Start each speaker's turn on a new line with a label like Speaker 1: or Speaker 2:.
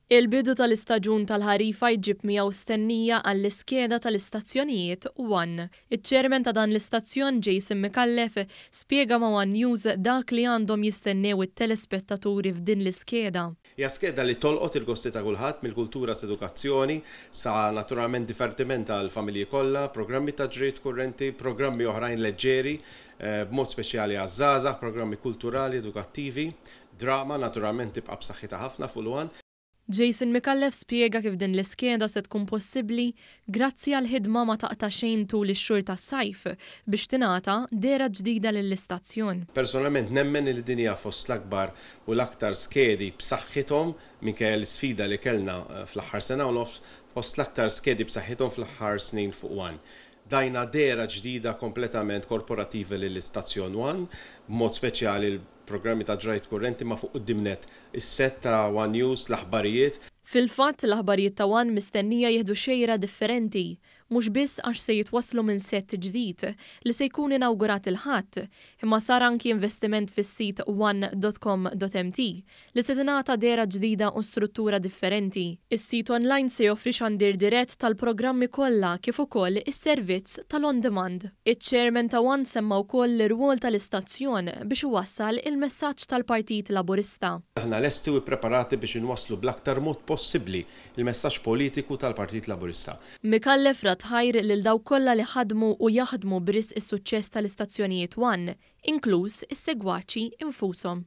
Speaker 1: Il-bidu tal-istaġun tal-ħarifa jġib miegħu stennija għall-iskeda tal-istazzjonijiet One. Iċ-chairman ta' dan l-istazzjon Jason Micallef spjega ma' One News dak li għandhom jistennew it-telespettaturi f'din l-iskeda.
Speaker 2: Hija skeda li tolqot il-gosti ta' kulħadd, mill-kultura s'edukazzjoni, sa naturalment divertiment għall-familji kollha, programmi ta' ġriet kurrenti, programmi oħrajn leġġeri, b'mod speċjali għaż-żgħażagħ, programmi kulturali, edukattivi, drama naturalment tibqa' b'saħħitha ħafna fuq l-One.
Speaker 1: Jason Micallef spjega kif din l-iskeda se tkun possibbli grazzi għal ħidma ma taqta' xejn tul ix-xhur tas-sajf biex tingħata dehra ġdida lill-istazzjon.
Speaker 2: Personalment nemmen li din hija fost l-akbar u l-aktar skedi b'saħħithom, minkejja l-isfida li kellna fl-aħħar sena u nofs, fost l-aktar skedi b'saħħithom fl-aħħar snin fuq One. Dajna dehra ġdida kompletament korporattiva lill-istazzjon One, b'mod speċjali l-programmi ta' ġrajt kurrenti ma' fuq quddiem nett is-set ta' One News, l-aħbarijiet.
Speaker 1: Fil-fatt, l-aħbarijiet ta' One mistennija jieħdu xejra differenti, mhux biss għax se jitwasslu minn set ġdid li se jkun inawgurat il-Ħadd, imma sar anki investiment fis-sit one.com.mt li se tingħata dehra ġdida u struttura differenti. Is-sit online se joffri xandir dirett tal-programmi kollha kif ukoll is-servizz tal-on demand. Iċ-chairman ta' One semma wkoll l-irwol tal-istazzjon biex iwassal il-messaġġ tal-Partit Laburista.
Speaker 2: Aħna lesti u ppreparati biex inwasslu bl-aktar mod possibbli il-messaġġ politiku tal-Partit Laburista.
Speaker 1: Micallef radd ħajr lil dawk kollha li ħadmu u jaħdmu b'risq is-suċċess tal-istazzjonijiet One, inkluż is-segwaċi infushom.